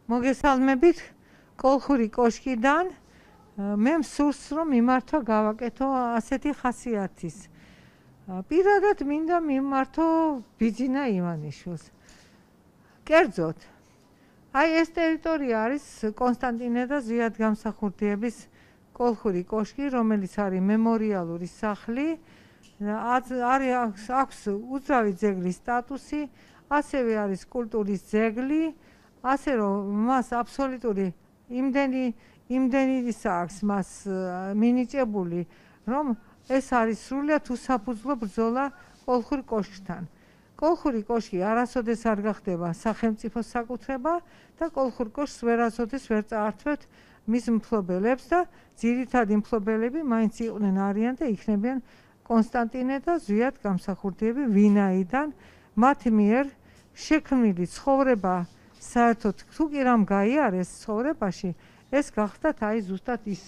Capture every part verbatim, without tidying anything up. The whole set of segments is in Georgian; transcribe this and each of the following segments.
მოგესალმებით კოლხური კოშკიდან მე მსურს რომ მიმართო გავაკეთო ასეთი ხასიათის პირადად მინდა მიმართო ბიძინა ივანიშვილს კერძოდ აი ეს ტერიტორია არის კონსტანტინე და ზვიად გამსახურდიების კოლხური კოშკი რომელიც არის მემორიალური სახლი არის აქვს უძრავი ძეგლის სტატუსი ასევე არის კულტურის ძეგლი ასე რომ მას აბსოლუტური იმდენი იმდენი აქვს მას მინიჭებული რომ ეს არის სრულიად უსაფუძვლო ბრძოლა კოლხურ კოშკთან. კოლხური კოშკი არასოდეს არ გახდება სახელმწიფოს საკუთრება და კოლხურ კოშკს ვერასოდეს ვერ წაართვევთ მის მფლობელებს და ძირითადი მფლობელები მაინც იყვნენ არიან და იქნებიან კონსტანტინე და ზვიად გამსახურდიები ვინაიდან მათ მიერ შექმნილი ცხოვრება საერთოდ თუ კი რამ გაიარეს ცხოვრებაში ეს გახდათ აი ზუსტად ის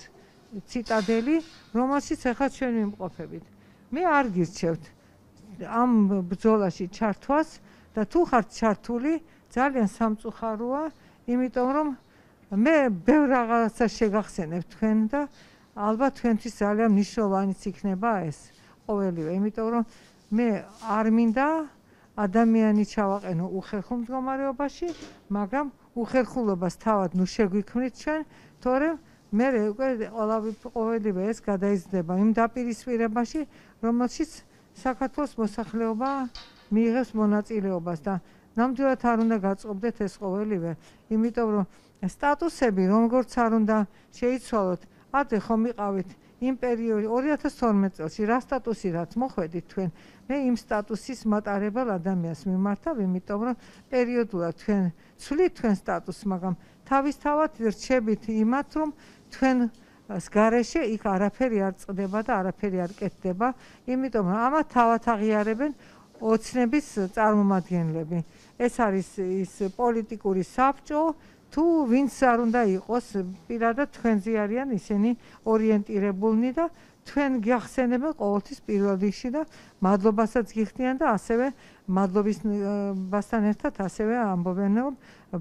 ციტადელი რომელშიც ახლა ჩვენ ვიმყოფებით. მე არ გირჩევთ ამ ბრძოლაში ჩართვას და თუ ხართ ჩართული ძალიან სამწუხაროა იმიტომ რომ მე ბევრ რაღაცას შეგახსენებ თქვენ და ალბათ თქვენთვის ძალიან მნიშვნელოვანიც იქნება ეს ყოველივე იმიტომ რომ მე არ მინდა ადამიანი ჩავაყენო უხერხულ მდგომარეობაში მაგრამ უხერხულობას თავად ნუ შეგვიქმნით ჩვენ თორემ მე უკვე ყოველივე ეს გადაიზრდება იმ დაპირისპირებაში რომელშიც საქართველოს მოსახლეობა მიიღებს მონაწილეობას და ნამდვილად არ უნდა გაწყობდეთ ეს ყოველივე იმიტომ რომ სტატუსები როგორც არ უნდა შეიცვალოთ ადრე ხომ იყავით იმ პერიოდში ორი ათას თორმეტ წელს რა სტატუსი რაც მოხვედით თქვენ მე იმ სტატუსის მატარებელ ადამიანს მიმართავ იმიტომ რომ პერიოდულად თქვენ ცვლით თქვენ სტატუსს მაგრამ თავისთავად რჩებით იმათ რომ თქვენ გარეშე იქ არაფერი არ წყდება და არაფერი არ კეთდება იმიტომ რომ ამათ თავად აღიარებენ ოცნების წარმომადგენლები ეს არის ის პოლიტიკური საბჭო თუ ვინც არ უნდა იყოს პირადად თქვენზე არიან ისინი ორიენტირებულნი და თქვენ გახსენებენ ყოველთვის პირველ რიგში და მადლობასაც გიხდიან და ასევე მადლობასთან ერთად ასევე ამბობენ რომ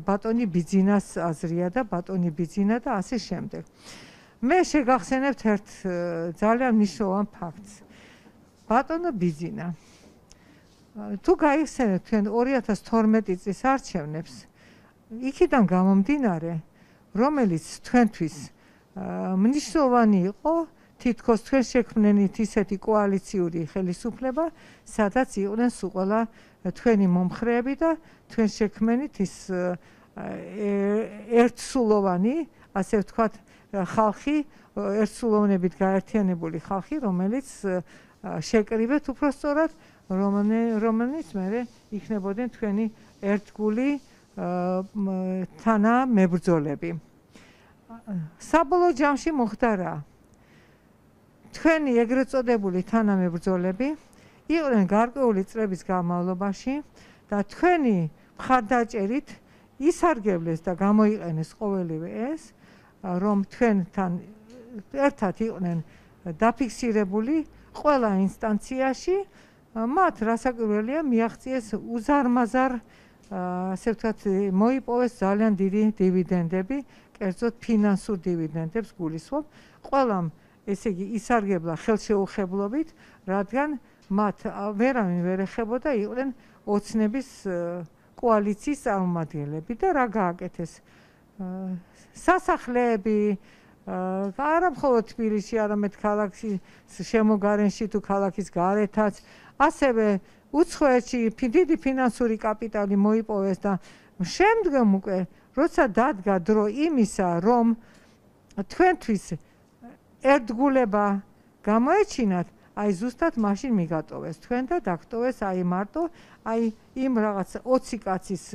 ბატონი ბიძინას აზრია და ბატონი ბიძინა და ასე შემდეგ. მე შეგახსენებთ ერთ ძალიან მნიშვნელოვან ფაქტს. ბატონო ბიძინა თუ გაიხსენებთ თქვენ ორი ათას თორმეტი წლის არჩევნებს იქიდან გამომდინარე რომელიც თქვენთვის მნიშვნელოვანი იყო თითქოს თქვენ შექმნენით ისეთი კოალიციური ხელისუფლება სადაც იყვნენ სულ ყველა თქვენი მომხრეები და თქვენ შექმნენით ის ერთსულოვანი ასე ვთქვათ ხალხი ერთსულოვნებით გაერთიანებული ხალხი რომელიც შეკრიბეთ უბრალოდ რომელიც მე იქნებოდნენ თქვენი ერთგული თანამებრძოლები. საბოლოო ჯამში მოხდა რა თქვენი ეგრეთ წოდებული თანამებრძოლები იყვნენ გარკვეული წლების განმავლობაში და თქვენი მხარდაჭერით ისარგებლეს და გამოიყენეს ყოველივე ეს რომ თქვენთან ერთად იყვნენ დაფიქსირებული ყველა ინსტანციაში მათ რასაკვირველია მიაღწიეს უზარმაზარ ასე ვთქვათ მოიპოვეს ძალიან დიდი დივიდენდები კერძოდ ფინანსურ დივიდენდებს გულისხმობ ყველამ ესე იგი ისარგებლა ხელშეუხებლობით რადგან მათ ვერავინ ვერ ეხებოდა იყვნენ ოცნების კოალიციის წარმომადგენლები და რა გააკეთეს სასახლეები არა მხოლოდ თბილისში არამედ ქალაქის შემოგარენში თუ ქალაქის გარეთაც ასევე უცხოეთში დიდი ფინანსური კაპიტალი მოიპოვეს და შემდგომ უკვე როცა დადგა დრო იმისა რომ თქვენთვის ერთგულება გამოეჩინათ აი ზუსტად მაშინ მიგატოვეს თქვენ და დაგტოვეს აი მარტო აი იმ რაღაც ოცი კაცის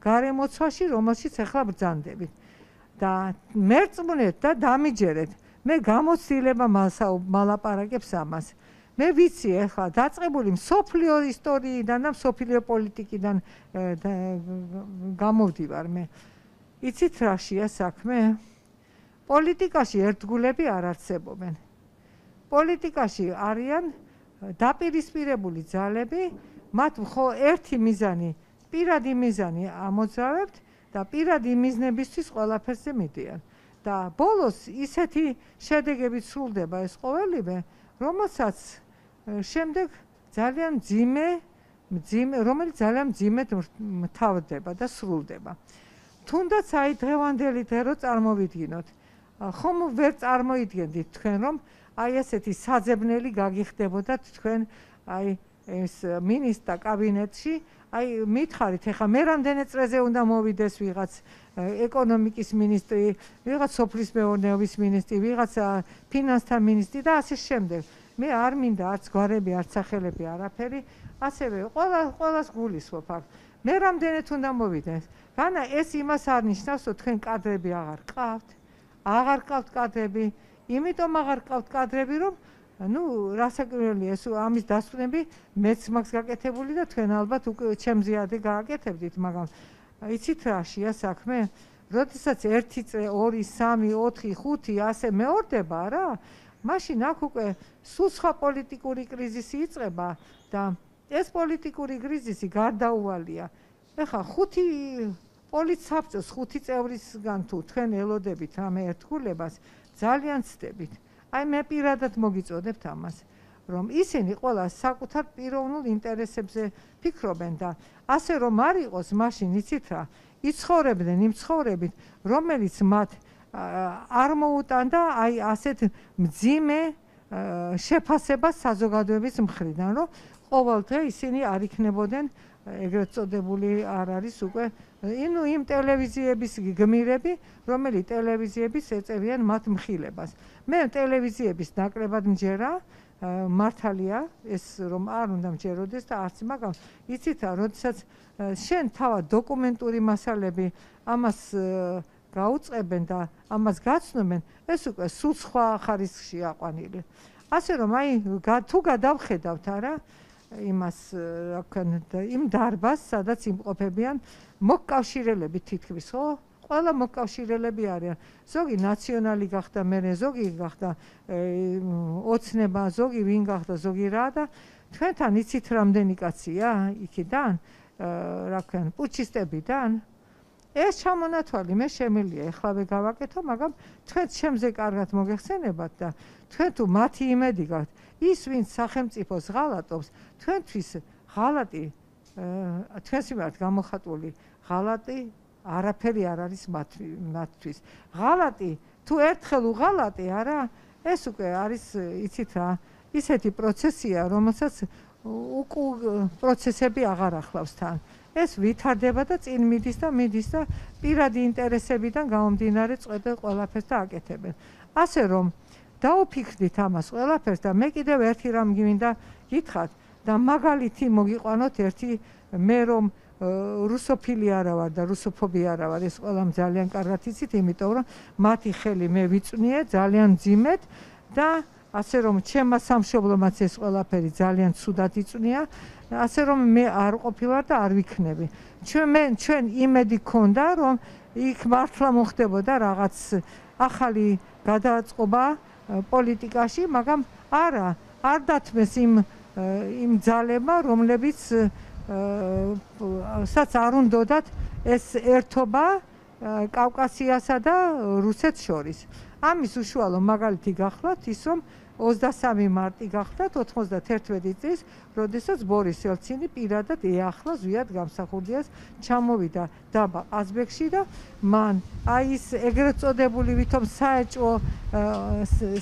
გარემოცვაში რომელშიც ახლა ბრძანდებით და მერწმუნეთ და დამიჯერეთ მე გამოცდილება მალაპარაკებს ამას მე ვიცი ახლა დაწყებული მსოფლიო ისტორიიდან და მსოფლიო პოლიტიკიდან გამოვდივარ მე იცით რაშია საქმე პოლიტიკაში ერთგულები არ არსებობენ პოლიტიკაში არიან დაპირისპირებული ძალები მათ მხოლოდ ერთი მიზანი პირადი მიზანი ამოძრავებთ და პირადი მიზნებისთვის ყველაფერზე მიდიან. და ბოლოს ისეთი შედეგებით სრულდება ეს ყოველივე, რომელსაც შემდეგ ძალიან მძიმე, მძიმე, რომელიც ძალიან მძიმედ მთავრდება და სრულდება. თუნდაც აი დღევანდელი დღე რო წარმოვიდგინოთ, ხომ ვერ წარმოიდგენდით თქვენ, რომ აი ესეთი საძებნელი გაგიხდებოდათ თქვენ აი ეს მინისტრთა კაბინეტში, აი მითხარით, ეხლა მე რამდენი წრეზე უნდა მოვიდეს ვიღაც ეკონომიკის მინისტრი, ვიღაც სოფლის მეურნეობის მინისტრი, ვიღაც ფინანსთა მინისტრი და ასე შემდეგ. მე არ მინდა არც გვარები, არც სახელები, არაფერი, ასევე ყველა ყველას გულისხმობ აქ. მე რამდენად უნდა მოვიდეს? განა ეს იმას არ ნიშნავს, რომ თქვენ კადრები აღარ ყავთ. აღარ ყავთ კადრები, იმიტომ აღარ ყავთ კადრები, რომ ნუ რასაკვირველია ეს ამის დასკვნები მეც მაქვს გაკეთებული და თქვენ ალბათ უკვე ჩემზე ადე გააკეთებდით, მაგრამ იცით რაშია საქმე? როდესაც ერთი წრე, ორი, სამი, ოთხი, ხუთი ასე მეორდება რა, მაშინ აქ უკვე სულ სხვა პოლიტიკური კრიზისი იწყება და ეს პოლიტიკური კრიზისი გარდაუვალია. ეხლა ხუთი პოლიტსაბჭოს ხუთი წევრისგან თუ თქვენ ელოდებით რამე ერთგულებას, ძალიან ცდებით. აი მე პირადად მოგიწოდებთ ამას, რომ ისინი ყველა საკუთარ პიროვნულ ინტერესებზე ფიქრობენ და ასე რომ არ იყოს, მაშინ იცით რა, იცხოვრებდნენ იმ ცხოვრებით, რომელიც მათ არ მოუტანდა აი ასეთ მძიმე შეფასებას საზოგადოების მხრიდან, რომ ყოველდღე ისინი არ იქნებოდნენ ეგრეთ წოდებული არ არის უკვე ინუ იმ ტელევიზიების გმირები, რომელი ტელევიზიების ეწევიან მათ მხილებას. მე ტელევიზიების ნაკლებად მჯერა, მართალია ეს რომ არ უნდა მჯეროდეს და არც, მაგრამ იცით რა, როდესაც შენ თავად დოკუმენტური მასალები ამას გაუწყებენ და ამას გაცნობენ, ეს უკვე სულ სხვა ხარისხში აყვანილი. ასე რომ აი თუ გადავხედავთ არა იმას რა ვქნა იმ დარბაზს, სადაც იმყოფებიან მოკავშირელები თითქმის, ხო? ყველა მოკავშირელები არიან. ზოგი ნაციონალი გახდა, მერე ზოგი გახდა ოცნება, ზოგი ვინ გახდა, ზოგი რა და თქვენთან იცით რამდენი კაცია იქიდან, რა ვქნა, პუჩისტებიდან. ეს ჩამონათვალი მე შემიძლია ეხლავე გავაკეთო, მაგრამ თქვენ ჩემზე კარგად მოგეხსენებათ და თქვენ თუ მათი იმედი გაქვთ, ის ვინც სახელმწიფოს ღალატობს, თქვენთვის ღალატი, თქვენს მიმართ გამოხატული ღალატი არაფერი არ არის მათთვის. ღალატი, თუ ერთხელ უღალატი არა, ეს უკვე არის, იცით რა, ისეთი პროცესია, რომელსაც უკუ პროცესები აღარ ახლავს თან. ეს ვითარდება და წინ მიდის და მიდის და პირადი ინტერესებიდან გამომდინარე წვედა ყველაფერს და აკეთებენ. ასე რომ დაუფიქრდით ამას ყველაფერს და მე კიდევ ერთი რამ გმინდა გითხრათ და მაგალითი მოგიყვანოთ ერთი მე რომ რუსოფილი არა ვარ და რუსოფობი არა ვარ, ეს ყველამ ძალიან კარგად იცით, იმიტომ რომ მათი ხელი მე ვიწვნიე ძალიან მძიმედ და ასე რომ ჩემმა სამშობლომაც ეს ყველაფერი ძალიან ცუდად იწვნია, ასე რომ მე არ ყოფილვარ და არ ვიქნები. ჩვენ მე ჩვენ იმედი გქონდა, რომ იქ მართლა მოხდებოდა რაღაც ახალი გადაწყობა პოლიტიკაში, მაგრამ არა, არ დათმეს იმ იმ ძალებმა, რომლებიც საც არ უნდათ ეს ერთობა კავკასიასა და რუსეთს შორის. ამის უშუალო მაგალითი გახლავთ ის, რომ ოცდასამი მარტი გახლავთ ოთხმოცდაერთი წლის, როდესაც ბორის ელცინი პირადად ეახლა ზვიად გამსახურდიას ჩამოვიდა დაბა ყაზბეგში და მან აი ის ეგრეთ წოდებული ვითომ საეჭვო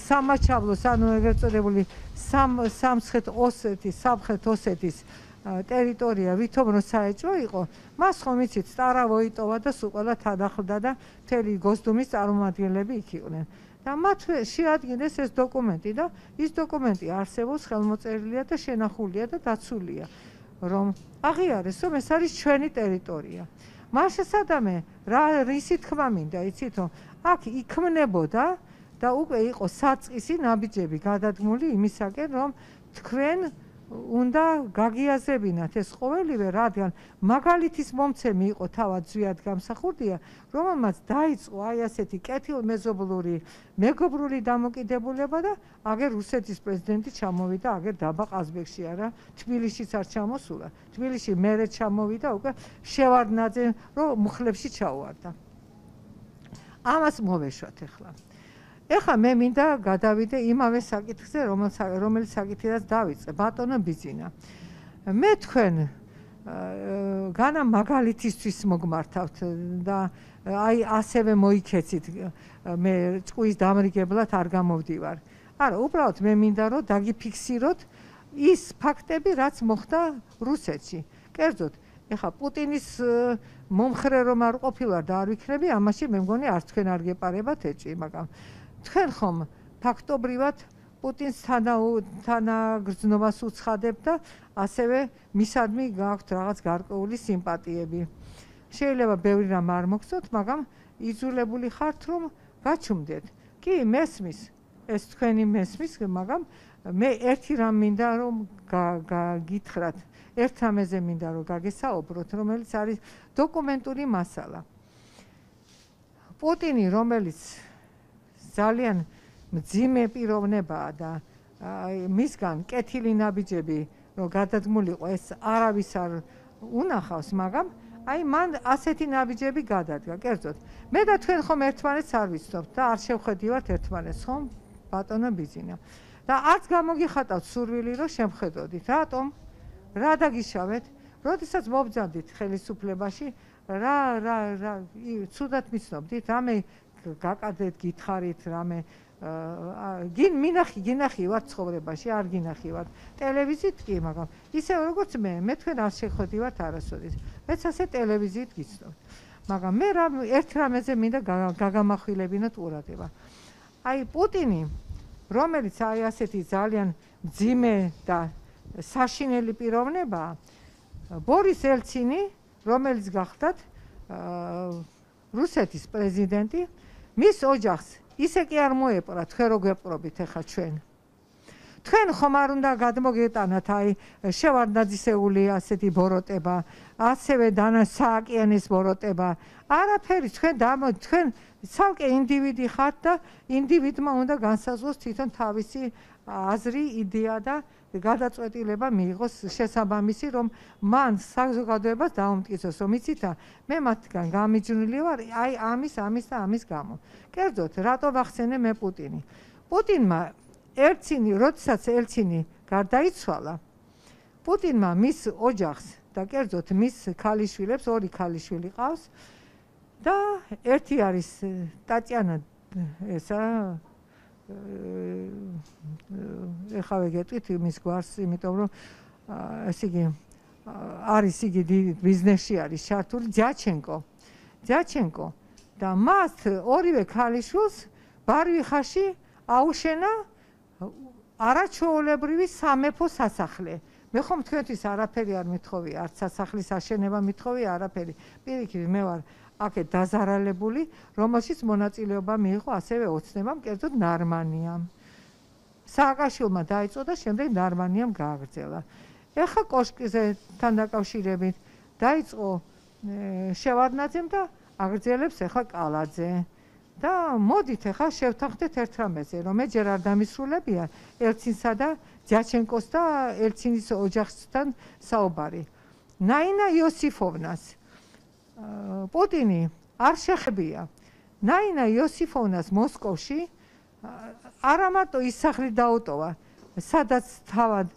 სამაჩაბლოს, ანუ ეგრეთ წოდებული სამცხეთ ოსეთის, სამხრეთ ოსეთის ტერიტორია ვითომ რო საეჭვო იყო, მას ხომ იცით სტარავო იტოვა და სულ ყველა თანახლდა და მთელი გოსდუმის წარმომადგენლები იქ იყვნენ. და მათ შეადგინეს ეს დოკუმენტი და ის დოკუმენტი არსებობს, ხელმოწერილია და შენახულია და დაცულია, რომ აღიარეს, რომ ეს არის ჩვენი ტერიტორია. მას შესაძამე რა რისი თქმა მინდა, იცით, რომ აქ იქმნებოდა და უკვე იყო საწყისი ნაბიჯები გადადგმული იმისაკენ, რომ თქვენ უნდა გაგიაზრებინათ ეს ყოველივე, რადგან მაგალითის მომცემი იყო თავად ზვიად გამსახურდია, რომელმაც დაიწყო აი ასეთი კეთილმეზობლური, მეგობრული დამოკიდებულება და აგერ რუსეთის პრეზიდენტი ჩამოვიდა, აგერ დაბა ყაზბეგში არა, თბილისშიც არ ჩამოსულა. თბილისში მერე ჩამოვიდა, უკვე შევარდნაძე რომ მუხლებში ჩაუვარდა. ამას მოვეშვათ ახლა. ეხლა მე მინდა გადავიდე იმავე საკითხზე, რომელიც საკითხიდან დავიწყე, ბატონო ბიძინა. მე თქვენ განა მაგალითისთვის მოგმართავთ და აი ასევე მოიქეცით, მე ჭკუის დამრიგებლად არ გამოვდივარ. არა, უბრალოდ მე მინდა რომ დაგიფიქსიროთ ის ფაქტები, რაც მოხდა რუსეთში. კერძოდ, ეხლა პუტინის მომხრე რომ არ ყოფილვარ და არ ვიქნები, ამაში მე მგონი არც თქვენ არ გეპარებათ ეჭვი, მაგრამ თქვენ ხომ ფაქტობრივად პუტინს თანაგრძნობას უცხადებთ და ასევე მისადმი გაქვთ რაღაც გარკვეული სიმპათიები. შეიძლება ბევრი რამ არ მოგწოთ, მაგრამ იძულებული ხართ რომ გაჩუმდეთ. კი, მესმის, ეს თქვენი მესმის, მაგრამ მე ერთი რამ მინდა რომ გაგითხრათ, ერთ რამეზე მინდა რომ გაგესაუბროთ, რომელიც არის დოკუმენტური მასალა. პუტინი, რომელიც ძალიან მძიმე პიროვნებაა და მისგან კეთილი ნაბიჯები რომ გადადგმულიყო, ეს არავის არ უნახავს, მაგრამ აი მან ასეთი ნაბიჯები გადადგა. კერძოდ, მე და თქვენ ხომ ერთმანეთს არ ვიცნობთ და არ შევხედივართ ერთმანეთს, ხომ ბატონო ბიძინა. და არც გამოგიხატავთ სურვილი რომ შემხედოდით. რატომ? რა დაგიშავეთ? როდესაც მობრძანდით ხელისუფლებაში, რა რა რა ცუდად მიცნობდით, რამე გაკადეთ, გითხარით, რამე გინ მინახი, გინახი ვარ ცხოვრებაში, არ გინახი ვარ ტელევიზიით კი, მაგრამ ისე როგორც მე, მე თქვენ არ შეხვედივართ არასოდეს. მეც ასე ტელევიზიით გიცნობთ. მაგრამ მე რა ერთ რამეზე მინდა გაგამახვილებინოთ ყურადღება. აი პუტინი, რომელიც აი ასეთი ძალიან მძიმე და საშინელი პიროვნებაა, ბორის ელცინი, რომელიც გახლდათ რუსეთის პრეზიდენტი, მის ოჯახს ისე კი არ მოეპყრა, თქვენ რო გვეპყრობით ახლა ჩვენ. თქვენ ხომ არ უნდა გადმოგეტანათ აი შევარდნაძისეული ასეთი ბოროტება, ასევე დანა სააკიანის ბოროტება. არაფერი, თქვენ თქვენ ცალკე ინდივიდი ხართ და ინდივიდმა უნდა განსაზღვროს თვითონ თავისი აზრი, იდეა და გადაწყვეტილება მიიღოს შესაბამისი, რომ მან საზოგადოებას დაუმტკიცოს, რომ იცით, მე მათგან გამიჯნული ვარ, აი ამის, ამის და ამის გამო. კერძოდ, რატო ვახსენე მე პუტინი? პუტინმა ელცინი, როდესაც ელცინი გარდაიცვალა, პუტინმა მის ოჯახს და კერძოდ მის ქალიშვილებს, ორი ქალიშვილი ყავს და ერთი არის ტატიანა ესა ეხლა ვეგეტყვით მის გვარს, იმიტომ რომ ესე იგი არის იგი ბიზნესში არის ჩართული, დიაჩენკო. დიაჩენკო და მას ორივე ქალიშვილს ბარვიხაში აუშენა არაჩვეულებრივი სამეფო სასახლე. მე ხომ თქვენთვის არაფერი არ მithოვია, არც სასახლის აშენება მithოვია, არაფერი. პირიქით მე ვარ აქეთ დაზარალებული, რომელშიც მონაწილეობა მიიღო ასევე ოცნებამ, კერძოდ ნარმანიამ. სააკაშვილმა დაიწყო და შემდეგ ნარმანიამ გააგრძელა. ეხლა კოშკისთან დაკავშირებით დაიწყო შევარდნაძემ და აგრძელებს ეხლა კალაძე. და მოდით ეხლა შევთანხმდეთ ერთ რამეზე, რომ მე ჯერ არ დამისრულებია ელცინსა და დიაჩენკოს და ელცინის ოჯახთან საუბარი. ნაინა იოსიფოვნას პუტინი არ შეხებია. ნაინა იოსიფოვნას მოსკოვში არა მარტო ის სახლი დაუტოვა, სადაც თავად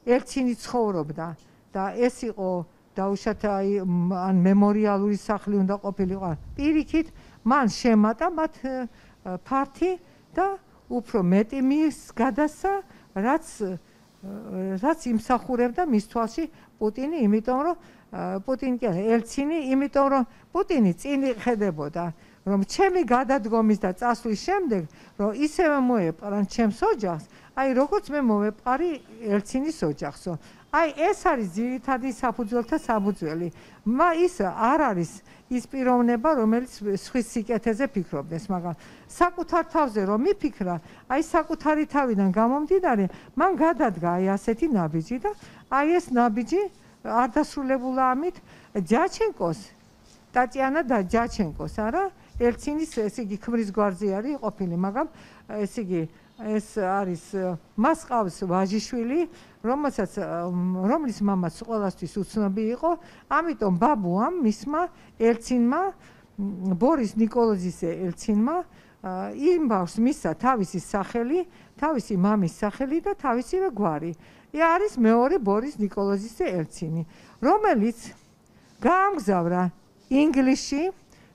ელცინი ცხოვრობდა და ეს იყო დაუშვათ ან მემორიალური სახლი უნდა ყოფილიყო. პირიქით მან შემატა მათ ფართი და უფრო მეტი მის გადასცა, რაც რაც იმსახურებდა მის თვალში პუტინი, იმიტომ რომ პუტინი კი არა, ელცინი, იმიტომ რომ პუტინი წინ ხედებოდა რომ ჩემი გადადგომის და წასვლის შემდეგ რომ ისევე მოეპყრან ჩემს ოჯახს, აი როგორც მე მოვეპყარი ელცინის ოჯახსო. აი ეს არის ძირითადი საფუძველთა საფუძველი. მა ის არ არის ის პიროვნება, რომელიც სხვის სიკეთეზე ფიქრობდეს, მაგრამ საკუთარ თავზე რომ მიფიქრა, აი საკუთარი თავიდან გამომდინარე, მან გადადგა აი ასეთი ნაბიჯი და აი ეს ნაბიჯი არ დასრულებულა ამით ჯაჩენკოს, ტატიანა და ჯაჩენკოს, არა, ელცინის ესე იგი ქმრის გვარზე არის ყოფილი, მაგრამ ესე იგი ეს არის მას ყავს ვაჟიშვილი, რომელსაც რომლის მამაც ყველასთვის უცნობი იყო, ამიტომ ბაბუამ მისმა ელცინმა ბორის ნიკოლოზის ელცინმა იმ ბავშვს მისცა თავისი სახელი, თავისი მამის სახელი და თავისივე გვარი. არის მეორე ბორის ნიკოლოზის ელცინი, რომელიც გაამგზავრა ინგლისში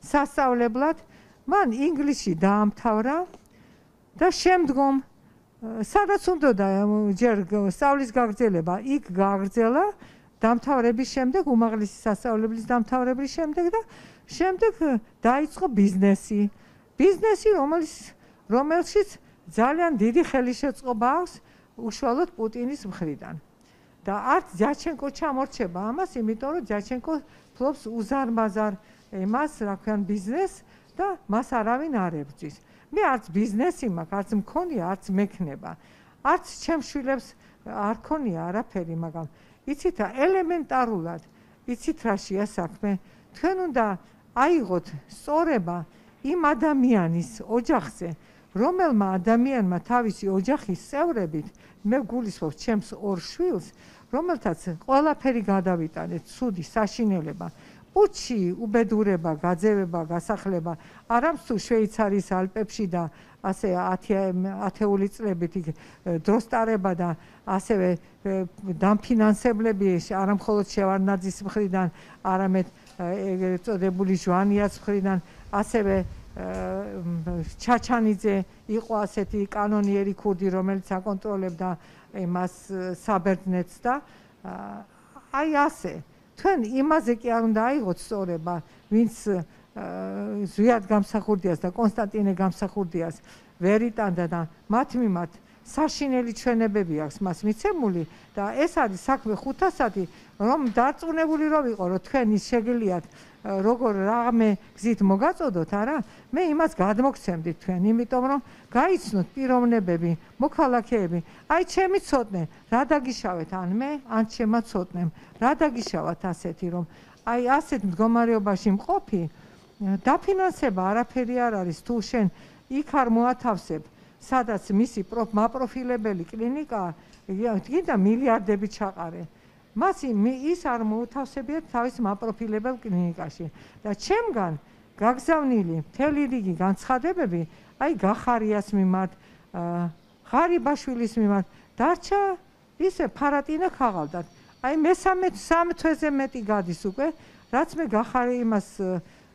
სასწავლებლად, მან ინგლისში დაამთავრა და შემდგომ სადაც უნდოდა ჯერ სწავლის გაგრძელება, იქ გააგრძელა დამთავრების შემდეგ, უმაღლესი სასწავლებლის დამთავრების შემდეგ და შემდეგ დაიწყო ბიზნესი. ბიზნესი, რომელშიც ძალიან დიდი ხელისშეწყობა აქვს უშუალოდ პუტინის მხრიდან. და არც ჯაჩენკო ჩამორჩება ამას, იმიტომ რომ ჯაჩენკო ფლობს უზარმაზარ იმას, რა ქვიან, ბიზნესს და მას არავინ არ ებრძვის. მე არც ბიზნესი მაქვს, არც მქონია, არც მექნება. არც ჩემს შვილებს არ ქონია არაფერი, მაგრამ იცით რა, ელემენტარულად, იცით რაშია საქმე? თქვენ უნდა აიღოთ სწორება იმ ადამიანის ოჯახზე, რომელმა ადამიანმა თავისი ოჯახის წევრებით, მე გულისხმობ ჩემს ორ შვილს, რომელთაც ყველაფერი გადავიტანეთ, ცუდი საშინელება, პუჩი, უბედურება, გაძევება, გასახლება, არამსუ შვეიცარიის ალპებში და ასე ათეული წლებით დროს ტარება და ასევე დამფინანსებლები არა მხოლოდ შევარდნაძის მხრიდან, არამედ ეგრეთ წოდებული ჟვანიას მხრიდან, ასევე ჩაჩანიძე იყო ასეთი კანონიერი ქურდი, რომელიც აკონტროლებდა იმას საბერძნეთს და აი ასე. თქვენ იმაზე კი არ უნდა აიღოთ სწორება, ვინც ზვიად გამსახურდიას და კონსტანტინე გამსახურდიას ვერ იტანდა და მათ მიმართ საშინელი ჩვენებები აქვს მას მიცემული და ეს არის საქმე ხუთასადი, რომ დარწმუნებული რო ვიყო, რომ თქვენ ის შეგიძლიათ როგორ რამე გზით მოგაწოდოთ, არა? მე იმას გადმოგცემდით თქვენ, იმიტომ რომ გაიცნოთ პიროვნებები, მოქალაქეები. აი ჩემი ცოტნე, რა დაგიშავეთ ან მე, ან ჩემმა ცოტნემ, რა დაგიშავათ ასეთი, რომ აი ასეთ მდგომარეობაში მყოფი, დაფინანსება არაფერი არ არის, თუ შენ იქ არ მოათავსებ, სადაც მისი მაპროფილებელი კლინიკაა, გინდა მილიარდები ჩაყარე. მას ის არ მოუთავსებიათ თავის მაპროფილებელ კლინიკაში და ჩემგან გაგზავნილი მთელი რიგი განცხადებები, აი გახარიას მიმართ, ღარიბაშვილის მიმართ, დარჩა ისე ფარატინა ქაღალდად. აი მესამე სამ თვეზე მეტი გადის უკვე, რაც მე გახარი იმას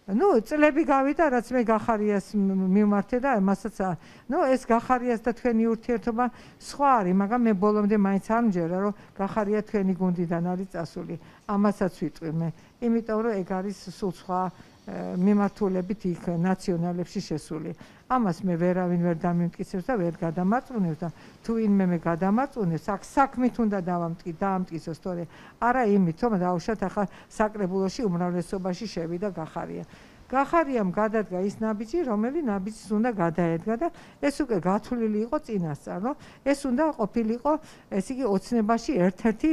ნუ წლები გავიდა, რაც მე გახარიას მიმართე და მასაც ნუ ეს გახარიას და თქვენი ურთიერთობა სხვა არის, მაგრამ მე ბოლომდე მაინც არ მჯერა, რომ გახარია თქვენი გუნდიდან არის წასული. ამასაც ვიტყვი მე, იმიტომ რომ ეგ არის სულ სხვა მიმართულებით იქ ნაციონალებში შესული. ამას მე ვერავინ ვერ დამიმტკიცებს და ვერ გადამარწმუნებს და თუ ვინმე მე გადამარწმუნებს, აქ საქმით უნდა დავამტკი, დაამტკიცოს, თორე არა იმით, რომ დაუშვათ ახლა საკრებულოში უმრავლესობაში შევიდა გახარია. გახარიამ გადადგა ის ნაბიჯი, რომელი ნაბიჯს უნდა გადაედგა და ეს უკვე გათვლილი იყო წინასწარ, რომ ეს უნდა ყოფილიყო, ესე იგი ოცნებაში ერთ-ერთი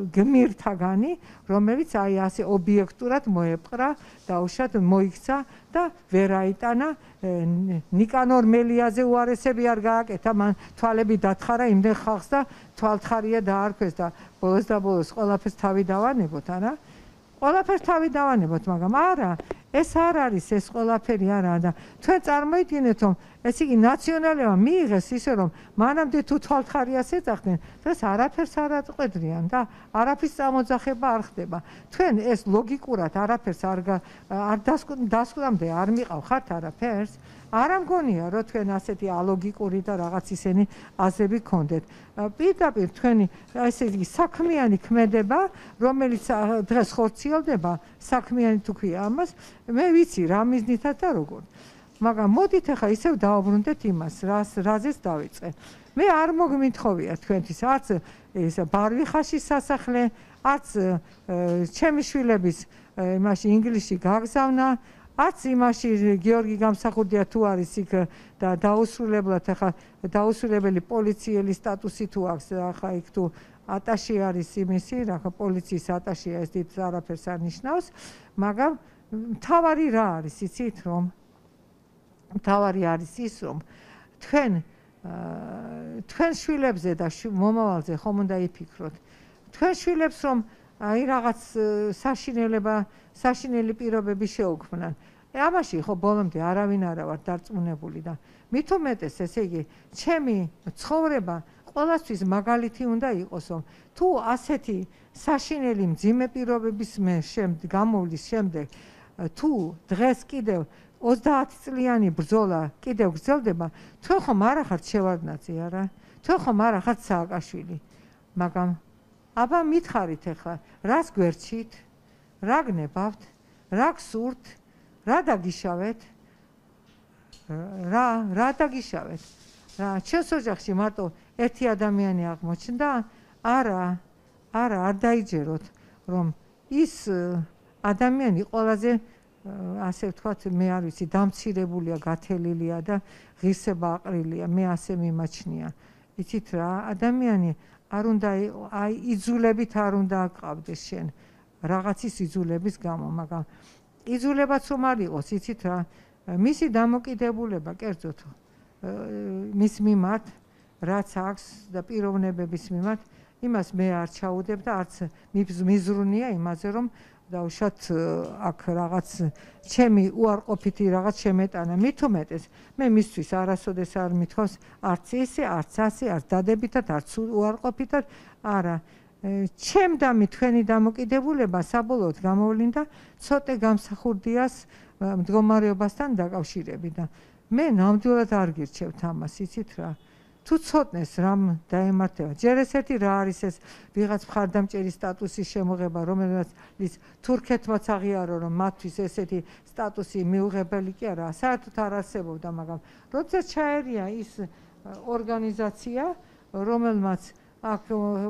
გმირთაგანი, რომელიც აი ასე ობიექტურად მოეპყრა, დაუშვათ მოიქცა და ვერ აიტანა ნიკანორ მელიაზე უარესები არ გააკეთა, მან თვალები დათხარა იმდენ ხალხს და თვალთხარია დაარქვეს და ბოლოს და ბოლოს ყველაფერს თავი დავანებოთ, არა? ყველაფერს თავი დავანებოთ, მაგრამ არა, ეს არ არის, ეს ყველაფერი არა და თქვენ წარმოიდგინეთ, რომ ეს იგი ნაციონალებმა მიიღეს ისე, რომ მანამდე თუ თვალთხარიას ეძახდნენ, დღეს არაფერს არ აწყვედრიან და არაფრის წამოძახება არ ხდება. თქვენ ეს ლოგიკურად არაფერს არ დასკვამდე არ მიყავხართ არაფერს, არა მგონია, რომ თქვენ ასეთი ალოგიკური და რაღაც ისენი აზრები გქონდეთ. პირდაპირ თქვენი ესე იგი საქმიანი ქმედება, რომელიც დღეს ხორციელდება, საქმიანი თუ ქვია ამას, მე ვიცი რა მიზნითაც და როგორ. მაგრამ მოდით ახლა ისევ დავაბრუნდეთ იმას, რას რაზეც დავიწყე. მე არ მოგმითხოვია თქვენთვის არც ეს ბარვიხაშის სასახლე, არც ჩემი შვილების იმაში ინგლისში გაგზავნა, არც იმაში გიორგი გამსახურდია თუ არის იქ და დაუსრულებლად ახლა დაუსრულებელი პოლიციელი სტატუსი თუ აქვს ახლა იქ თუ ატაში არის იმისი, რა პოლიციის ატაშია ეს დიდ არაფერს არ ნიშნავს, მაგრამ მთავარი რა არის, იცით რომ მთავარი არის ის რომ თქვენ თქვენ შვილებზე და მომავალზე ხომ უნდა იფიქროთ. თქვენ შვილებს რომ აი რაღაც საშინელება, საშინელი პირობები შეუქმნან. ამაში ხო ბოლომდე არავინ არა ვარ დარწმუნებული და მით უმეტეს ესე იგი ჩემი ცხოვრება ყველასთვის მაგალითი უნდა იყოს რომ თუ ასეთი საშინელი მძიმე პირობების მე შემდეგ გამოვლის შემდეგ თუ დღეს კიდევ ოცდაათი წლიანი ბრძოლა კიდევ გრძელდება თქვენ ხომ არ ახართ შევარდნაძე არა თქვენ ხომ არ ახართ სააკაშვილი მაგრამ აბა მითხარით ახლა რას გვერდჩით რა გნებავთ რა გსურთ რა დაგიშავეთ რა რა დაგიშავეთ რა ჩვენს ოჯახში მარტო ერთი ადამიანი აღმოჩნდა არა არა არ დაიჯეროთ რომ ის ადამიანი ყველაზე ასე ვთქვათ მე არ ვიცი დამცირებულია გათელილია და ღირსება აყრილია მე ასე მიმაჩნია იცით რა ადამიანი არ უნდა აი იძულებით არ უნდა აყავდეს შენ რაღაცის იძულების გამო მაგრამ იძულებაც რომ არ იყოს იცით რა მისი დამოკიდებულება კერძოდ მის მიმართ რაც აქვს და პიროვნებების მიმართ იმას მე არ ჩაუდებ და არც მიზრუნია იმაზე რომ დაუშვათ აქ რაღაც ჩემი უარყოფითი რაღაც შემეტანა მით უმეტეს მე მისთვის არასოდეს არ მithავს არც ისე არც ასე არც დადებითად არც უარყოფითად არა ჩემდამი თქვენი დამოკიდებულება საბოლოოდ გამოვლინდა ცოტა გამსახურდიას მდგომარეობასთან დაკავშირებით და მე ნამდვილად არ გირჩევთ ამას იცით რა თუ ცოტნეს რამ დაემართება ჯერ ესეთი რა არის ეს ვიღაც მხარდამჭერი სტატუსის შემოღება რომელსაც თურქეთმაც აღიარო რომ მათთვის ესეთი სტატუსი მიუღებელი კი არა საერთოდ არ არსებობდა მაგრამ როდესაც ჩაერია ის ორგანიზაცია რომელმაც აქ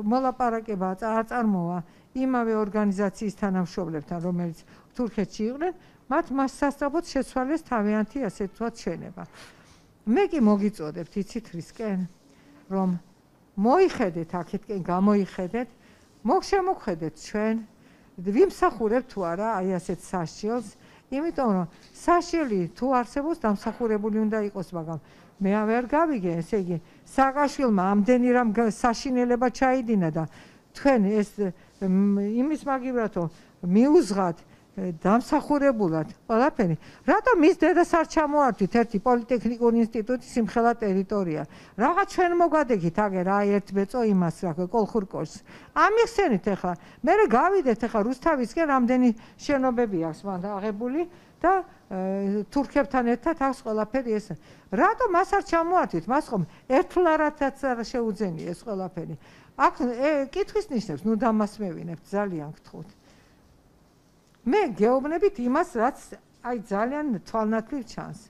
მოლაპარაკება აწარმოა იმავე ორგანიზაციის თანამშრომლებთან რომელიც თურქეთში იყვნენ მათ მას სასწრაფოდ შეცვალეს თავიანთი ასე ვთქვათ შენება მე კი მოგიწოდებთ იცით რისკენ რომ მოიხედეთ აქეთკენ გამოიხედეთ მოგშემოგხედეთ ჩვენ ვიმსახურებთ თუ არა აი ასეთ საშილს იმიტომ რომ საშილი თუ არსებობს დამსახურებული უნდა იყოს მაგრამ მე ვერ გავიგე ესე იგი სააკაშვილმა ამდენი რამ საშინელება ჩაიდინა და თქვენ ეს იმის მაგივრად რომ მიუძღათ დამსახურებულად ყველაფერი რატომ ის დედას არ ჩამოართვით ერთი პოლიტექნიკური ინსტიტუტი სიმხელა ტერიტორია რაღაც ჩვენ მოგვადექით აგერ აი ერთ ბეწო იმას რა კოლხურ-კოშს ამიხსენით ახლა მე გავიდეთ ახლა რუსთავისკენ რამდენი შენობები აქვს მან აღებული და თურქებთან ერთად აქვს ყველაფერი ეს რატომ მას არ ჩამოართვით მას ხომ ერთლარათაც არ შეუძენია ეს ყველაფერი აქ კითხვის ნიშნებს ნუ დამასმევინებთ ძალიან გთხოვთ მე გეუბნებით იმას რაც აი ძალიან თვალნათლივ ჩანს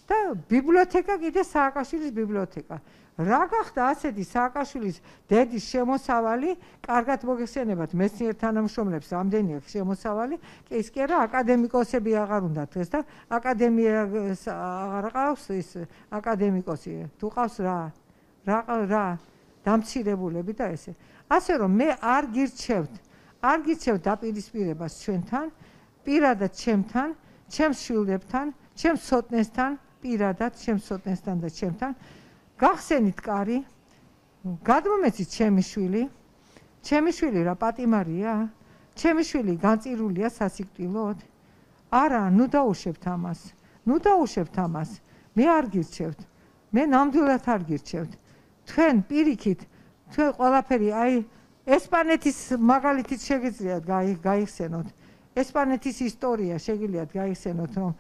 და ბიბლიოთეკა კიდე სააკაშვილის ბიბლიოთეკა რა გახდა ასეთი სააკაშვილის დედის შემოსავალი კარგად მოგეხსენებათ მეცნიერ თანამშრომლებს რამდენი აქვს შემოსავალი ის კი არა აკადემიკოსები აღარ უნდათ დღეს და აკადემია აღარ ყავს ის აკადემიკოსი თუ ყავს რა რა რა დამცირებულები და ესე ასე რომ მე არ გირჩევთ არ გიცევ დაპირისპირებას ჩვენთან, პირადად ჩემთან, ჩემს შვილებთან, ჩემს ცოტნესთან, პირადად ჩემს ცოტნესთან და ჩემთან. გახსენით კარი, გადმომეცით ჩემი შვილი, ჩემი შვილი რა პატიმარია, ჩემი შვილი განწირულია სასიკვდილოდ. არა, ნუ დაუშვებთ ამას, ნუ დაუშვებთ ამას. მე არ გირჩევთ, მე ნამდვილად არ გირჩევთ. თქვენ პირიქით, თქვენ ყველაფერი აი ესპანეთის მაგალითით შეგიძლიათ გაიხსენოთ. ესპანეთის ისტორია შეგიძლიათ გაიხსენოთ, რომ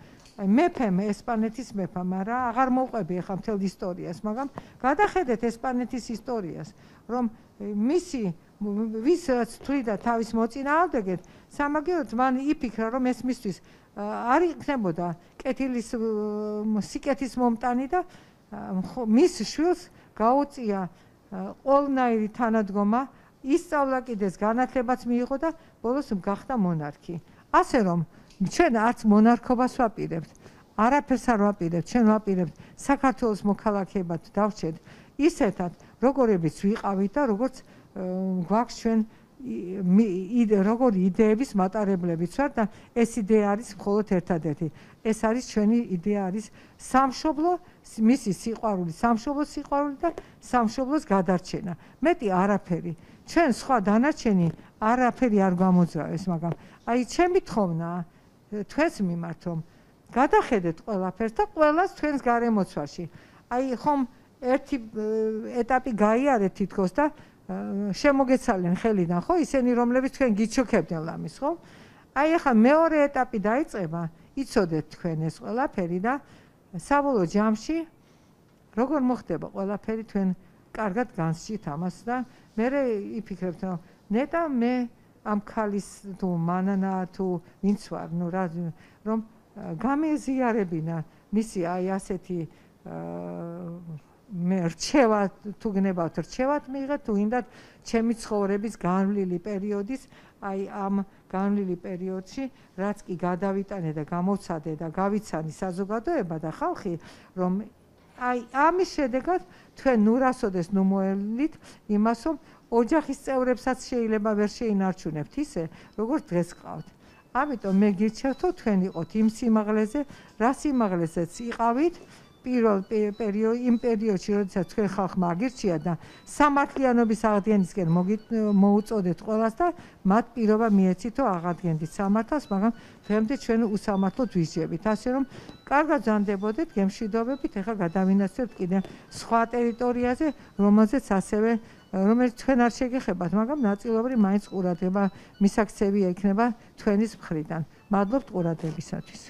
მეფემ ესპანეთის მეფამ, არა, აღარ მოვყვები ახლა მთელ ისტორიას, მაგრამ გადახედეთ ესპანეთის ისტორიას, რომ მისი ვისაც თვლიდა თავის მოწინააღმდეგედ, სამაგიეროდ მან იფიქრა, რომ ეს მისთვის არ იქნებოდა კეთილის სიკეთის მომტანი და მის შვილს გაუწია ყველნაირი თანადგომა, ისწავლა კიდეს განათლებაც მიიღო და ბოლოს გახდა მონარქი. ასე რომ ჩვენ არც მონარქობას ვაპირებთ, არაფერს არ ვაპირებთ, ჩვენ ვაპირებთ საქართველოს მოქალაქეებად დავრჩეთ ისეთად, როგორებიც ვიყავით და როგორც გვაქვს ჩვენ როგორი იდეების მატარებლებიც ვართ და ეს იდეა არის მხოლოდ ერთადერთი. ეს არის ჩვენი იდეა არის სამშობლო, მისი სიყვარული, სამშობლოს სიყვარული და სამშობლოს გადარჩენა. მეტი არაფერი. ჩვენ სხვა დანარჩენი არაფერი არ გამოძრავებს, მაგრამ აი ჩემი თხოვნაა თქვენს მიმართ, რომ გადახედეთ ყველაფერს და ყველას თქვენს გარემოცვაში. აი ხომ ერთი ეტაპი გაიარეთ თითქოს და შემოგეცალენ ხელიდან, ხო, ისინი რომლებიც თქვენ გიჩოქებდნენ ლამის, ხო? აი ახლა მეორე ეტაპი დაიწყება, იცოდეთ თქვენ ეს ყველაფერი და საბოლოო ჯამში როგორ მოხდება ყველაფერი თქვენ კარგად განსჯით ამას და მე იფიქრებთ, რომ ნეტა მე ამ ქალის თუ მანანა თუ ვინც ვარ, ნუ რა რომ გამეზიარებინა მისი აი ასეთი მე რჩევა თუ გნებავთ რჩევათ მიიღეთ თუ ინდათ ჩემი ცხოვრების განვლილი პერიოდის აი ამ განვლილი პერიოდში რაც კი გადავიტანე და გამოვცადე და გავიცანი საზოგადოება და ხალხი რომ აი ამის შედეგად თქვენ ნურასოდეს ნუ მოელით იმას რომ ოჯახის წევრებსაც შეიძლება ვერ შეინარჩუნებთ ისე როგორც დღეს ყავთ. ამიტომ მე გირჩევთო თქვენ იყოთ იმ სიმაღლეზე რა სიმაღლეზეც იყავით პირველ პერიოდში იმ პერიოდში როდესაც თქვენ ხალხმა აგირჩია და სამართლიანობის აღდგენისკენ მოუწოდეთ ყველას და მათ პირობა მიეცით რომ აღადგენდით სამართალს, მაგრამ დღემდე ჩვენ უსამართლოდ ვისჯებით. ასე რომ კარგად ზანდებოდეთ, გემშვიდობებით, ეხლა გადავინაცვლებთ კიდე სხვა ტერიტორიაზე, რომელზეც ასევე რომელიც თქვენ არ შეგეხებათ, მაგრამ ნაწილობრივ მაინც ყურადღება მისაქცევია იქნება თქვენის მხრიდან. მადლობთ ყურადღებისათვის.